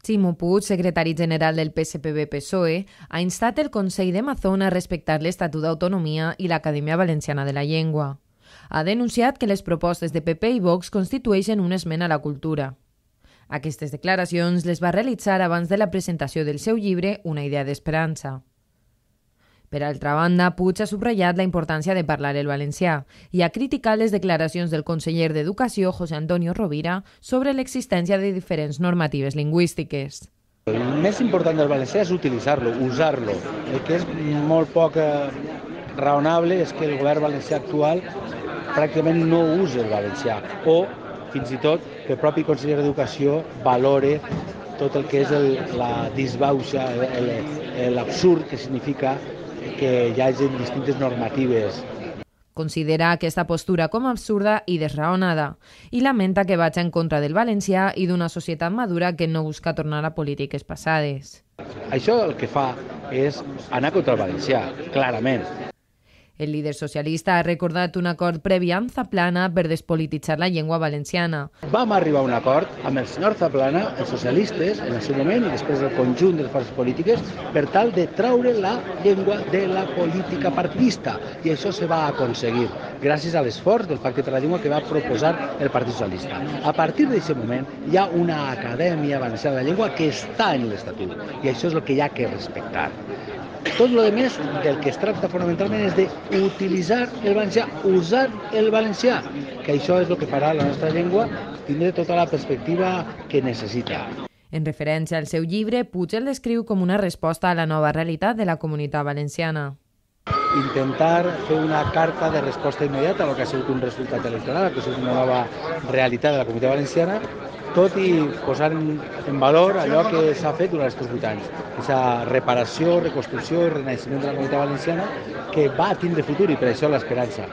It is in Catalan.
Ximo Puig, secretari general del PSPB-PSOE, ha instat el Consell de Mazón a respectar l'Estatut d'Autonomia i l'Acadèmia Valenciana de la Llengua. Ha denunciat que les propostes de PP i Vox constitueixen un esment a la cultura. Aquestes declaracions les va realitzar abans de la presentació del seu llibre Una idea d'esperança. Per altra banda, Puig ha subratllat la importància de parlar el valencià i ha criticat les declaracions del conseller d'Educació, José Antonio Rovira, sobre l'existència de diferents normatives lingüístiques. El més important del valencià és utilitzar-lo, usar-lo. El que és molt poc raonable és que el govern valencià actual pràcticament no usa el valencià o, fins i tot, que el propi conseller d'Educació valore tot el que és la disbauxa, l'absurd que significa que hi hagi distintes normatives. Considera aquesta postura com absurda i desraonada i lamenta que vagi en contra del valencià i d'una societat madura que no busca tornar a polítiques passades. Això el que fa és anar contra el valencià, clarament. El líder socialista ha recordat un acord previ amb Zaplana per despolititzar la llengua valenciana. Vam arribar a un acord amb el senyor Zaplana, els socialistes, en el seu moment, i després el conjunt de les forces polítiques, per tal de traure la llengua de la política partidista. I això se va aconseguir gràcies a l'esforç del Pacte per la Llengua que va proposar el Partit Socialista. A partir d'aquest moment hi ha una Acadèmia Valenciana de la Llengua que està en l'Estatut i això és el que hi ha que respectar. Tot el més del que es tracta fonamentalment és d'utilitzar el valencià, usar el valencià, que això és el que farà la nostra llengua tindre tota la perspectiva que necessita. En referència al seu llibre, Puig el descriu com una resposta a la nova realitat de la comunitat valenciana. Intentar fer una carta de resposta immediata a el que ha sigut un resultat electoral, que ha sigut una nova realitat de la comunitat valenciana, tot i posar en valor allò que s'ha fet durant aquests 8 anys. Aquesta reparació, reconstrucció i renaixement de la comunitat valenciana que va tindre futur i per això l'esperança.